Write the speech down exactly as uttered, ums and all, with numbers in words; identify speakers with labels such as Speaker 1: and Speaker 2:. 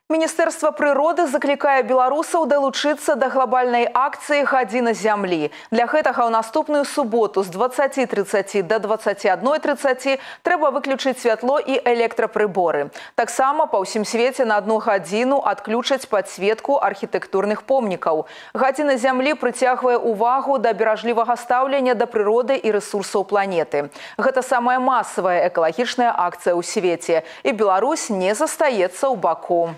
Speaker 1: Міністэрства прыроды заклікае беларусаў далучыцца да глобальнай акцыі «Гадзіна зямлі». Для гэтага ў наступную суботу з дваццаці трыццаці да дваццаці адной трыццаці трэба выключыць святло і электрапрыборы. Таксама па ўсім свеце на адну гадзіну адключаць падсветку архітэктурных помнікаў. «Гадзіна зямлі» прыцягвае ўвагу да беражлівага стаўлення да прыроды і рэсурсаў планеты. Гэта самая масавая экалагічная акцыя ў свеце, і Беларусь не застаецца ў баку.